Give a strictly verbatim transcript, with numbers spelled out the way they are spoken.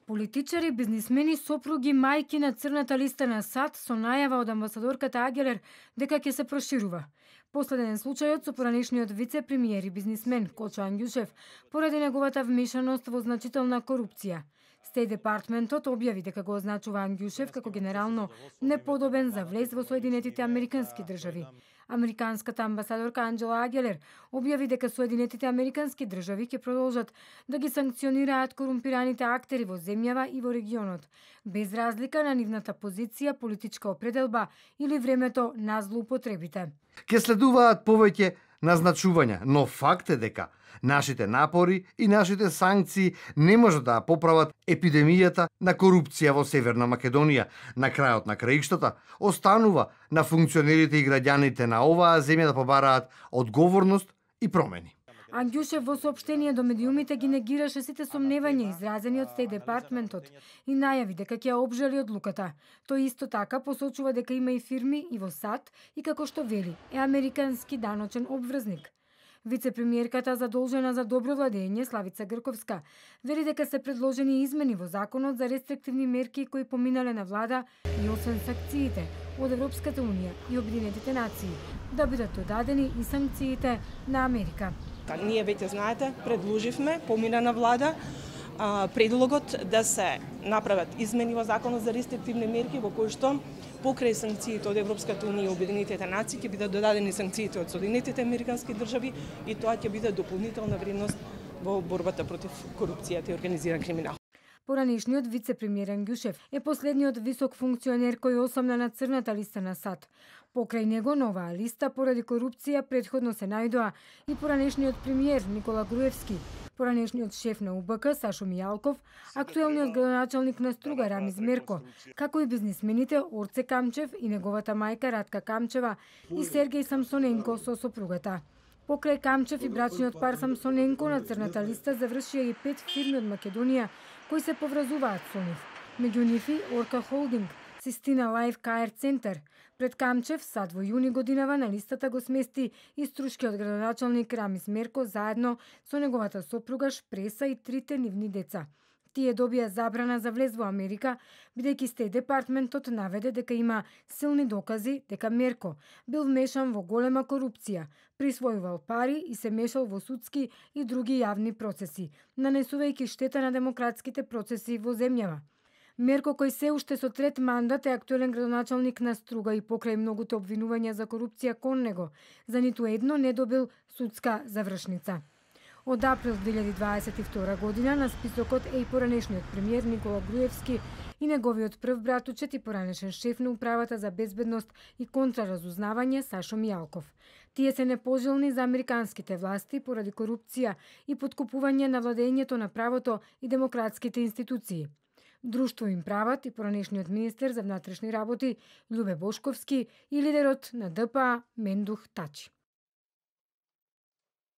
Политичари, бизнисмени, сопруги, мајки на црната листа на САД со најава од амбасадорката Агелер дека ќе се проширува. Последен случајот со поранешниот вице-премиер и бизнисмен Кочо Ангјушев поради неговата вмешаност во значителна корупција. Стеј департментот објави дека го означува Ангјушев како генерално неподобен за влез во Соединетите Американски држави. Американската амбасадорка Анџела Агелер објави дека Соединетите Американски држави ќе продолжат да ги санкционираат корумпираните актери во земјава и во регионот, без разлика на нивната позиција, политичка определба или времето на злоупотребите. Ке следуваат повеќе назначувања, но факт е дека нашите напори и нашите санкции не можат да поправат епидемијата на корупција во Северна Македонија. На крајот на краиштата останува на функционерите и граѓаните на оваа земја да побараат одговорност и промени. Ангјушев во соопштение до медиумите ги негираше сите сомневања изразени од Стеј департментот и најави дека ќе обжали одлуката. Тој исто така посочува дека има и фирми и во САД и како што вели е американски даночен обврзник. Вице-премиерката задолжена за добро владење Славица Грковска вели дека се предложени измени во законот за рестриктивни мерки кои поминале на влада и освен санкциите од Европската унија и Обединетите нации да бидат додадени и санкциите на Америка. Ние веќе знаете, предложивме, помина на влада, предлогот да се направат измени во законот за рестриктивни мерки во кои што покрај санкциите од Европската унија и Обединетите нации ќе бидат додадени санкциите од Соединетите Американски држави и тоа ќе биде дополнителна вредност во борбата против корупцијата и организиран криминал. Поранешниот вице-премиер Ангјушев е последниот висок функционер кој осомна на црната листа на САД. Покрај него на оваа листа поради корупција претходно се најдоа и поранешниот премиер Никола Груевски, поранешниот шеф на У Б К Сашо Мијалков, актуелниот градоначалник на Струга Рамиз Мерко, како и бизнисмените Орце Камчев и неговата мајка Радка Камчева и Сергеј Самсоненко со сопругата. Покрај Камчев и брачниот пар Самсоненко на црната листа завршија и пет фирми од Македонија кои се поврзуваат со нив. Меѓу нив и Орка Холдинг, Систина Лайф К Р Центар. Пред Камчев, САД во јуни годинава на листата го смести и струшкиот градоначалник Рамиз Мерко заедно со неговата сопруга Шпреса и трите нивни деца. Тие добија забрана за влез во Америка, бидејќи Стеј департментот наведе дека има силни докази дека Мерко бил вмешан во голема корупција, присвојувал пари и се мешал во судски и други јавни процеси, нанесувајќи штета на демократските процеси во земјава. Мерко, кој се уште со трет мандат е актуелен градоначалник на Струга и покрај многуте обвинувања за корупција кон него, за ниту едно не добил судска завршница. Од април две илјади дваесет и втора година на списокот е и поранешниот премиер Никола Груевски и неговиот прв братучет и поранешен шеф на управата за безбедност и контраразузнавање Сашо Мијалков. Тие се непожелни за американските власти поради корупција и поткупување на владењето на правото и демократските институции. Друштво им прават и поранешниот министер за внатрешни работи Љубе Бошковски и лидерот на Д П А Мендух Тачи.